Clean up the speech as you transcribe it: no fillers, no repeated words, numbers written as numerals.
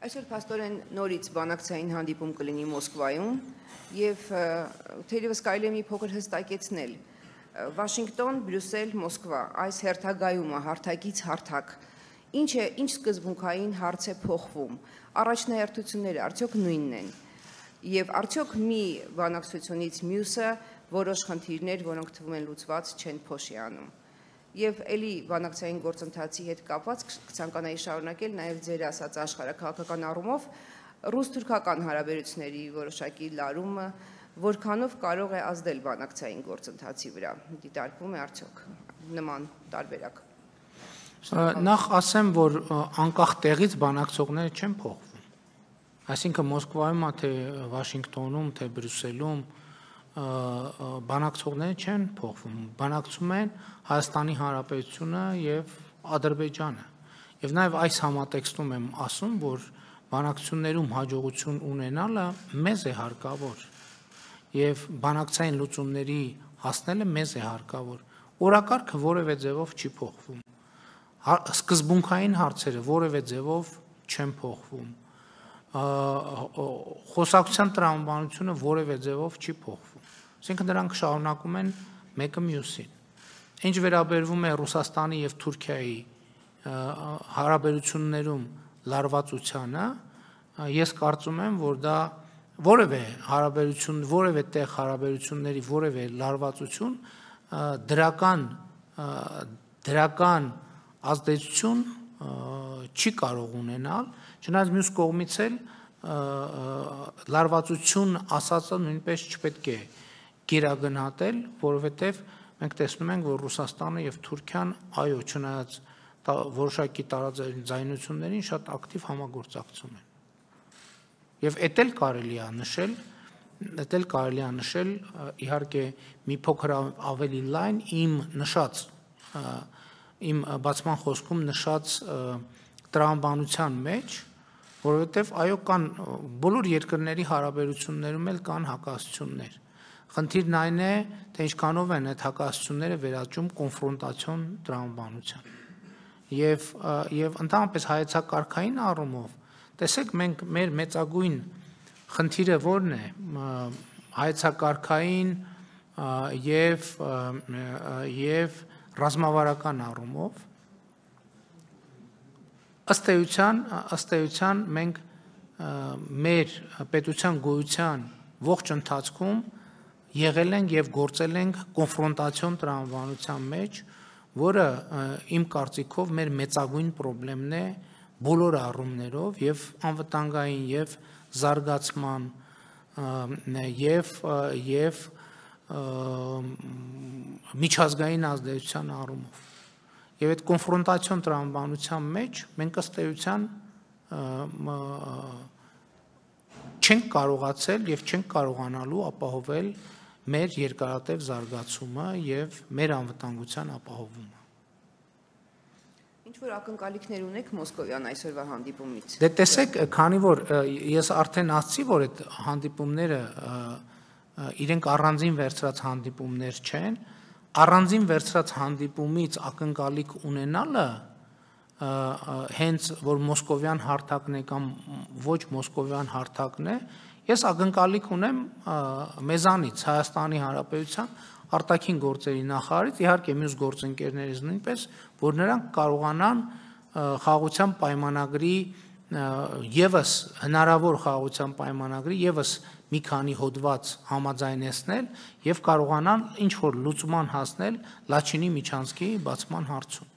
Այսօր փաստորեն նորից բանակցային հանդիպում կլինի Մոսկվայում եւ թերևս կարելի է մի փոքր հստակեցնել Վաշինգտոն, Բրյուսել, Մոսկվա այս հերթագայումը հարթակից հարթակ ինչ սկզբունքային հարց է փոխվում առաջնահերթությունները արդյոք նույնն են եւ արդյոք մի բանակցությունից մյուսը որոշ խնդիրներ որոնք թվում են լուծված չեն փոշի անում Եվ էլի բանակցային գործընթացի հետ կապված կցանկանայի շարունակել նաև ձեր ասած աշխարհաքաղաքական առումով ռուս-թուրքական հարաբերությունների որոշակի լարումը որքանով կարող է ազդել բանակցային գործընթացի վրա դիտարկվում է արդյոք նման տարբերակ Նախ ասեմ որ անկախ տեղից բանակցողները չեն փոխվում այսինքն Մոսկվայում թե Վաշինգտոնում թե Բրյուսելում բանակցողները չեն փոխվում բանակցում են Հայաստանի Հանրապետությունը եւ Ադրբեջանը եւ նաեւ այս համատեքստում եմ ասում որ բանակցություններում հաջողություն ունենալը մեզ է հարկավոր եւ բանակցային լուծումների հասնելը մեզ է հարկավոր օրակարգը որևէ ձևով չի փոխվում սկզբունքային հարցերը որևէ ձևով չեն փոխվում խոսակցության տրամաբանությունը որևէ ձևով չի փոխվում Այսինքն նրանք շարունակում են մեկը մյուսին Ինչ վերաբերվում է Ռուսաստանի եւ Թուրքիայի հարաբերություններում լարվածությանը ես կարծում եմ որ դա որևէ հարաբերություն որևէ տեղ հարաբերությունների որևէ լարվածություն դրական ազդեցություն չի կարող ունենալ չնայած մյուս կողմից էլ լարվածություն ասածը նույնպես չպետք է գերագնահատել որովհետեւ մենք տեսնում ենք որ Ռուսաստանը եւ Թուրքիան այո չնայած որոշակի տարաձայնություններին շատ ակտիվ համագործակցում են եւ էդ էլ կարելի է նշել իհարկե մի փոքր ավելի լայն իմ բացման խոսքում նշած տրամաբանության մեջ որովհետեւ այո կան բոլոր երկրների հարաբերություններում էլ կան հակասություններ Խնդիրն այն է, թե ինչքանով են այդ հակասությունները վերաճում կոնֆրոնտացիոն տրամաբանության։ Եվ ընդհանրապես հայեցակարգային առումով, տեսեք մենք մեր մեծագույն խնդիրը որն է հայեցակարգային եւ ռազմավարական առումով ըստ էության մենք մեր պետության գոյության ողջ ընթացքում եղել ենք եւ գործել ենք կոնֆրոնտացիոն տրամաբանության մեջ, որը իմ կարծիքով մեր մեծագույն խնդիրն է բոլոր առումներով եւ անվտանգային եւ զարգացման եւ միջազգային ազդեցության առումով։ Եվ այդ կոնֆրոնտացիոն տրամաբանության մեջ մենք ըստ էության չենք կարողացել եւ չենք կարողանալու ապահովել մեր երկարատև զարգացումը եւ մեր անվտանգության ապահովումը։ Ինչ որ ակնկալիքներ ունեք Մոսկովյան այսօրվա հանդիպումից։ Դե տեսեք, քանի որ ես արդեն ասացի, որ այդ հանդիպումները իրենք առանձին վերցրած հանդիպումներ չեն, առանձին վերցրած հանդիպումից ակնկալիք ունենալը հենց որ մոսկովյան հարթակն է կամ ոչ մոսկովյան հարթակն է, ես ակնկալիք ունեմ մեզանից Հայաստանի Հանրապետության արտաքին գործերի նախարարից, իհարկե մյուս գործընկերներից նույնպես, որ նրանք կարողանան խաղաղության պայմանագրի եւս հնարավոր խաղաղության պայմանագրի եւս մի քանի հոդված համաձայնեցնել եւ կարողանան ինչ որ լուծման հասնել Լաչինի միջանցքի բացման հարցում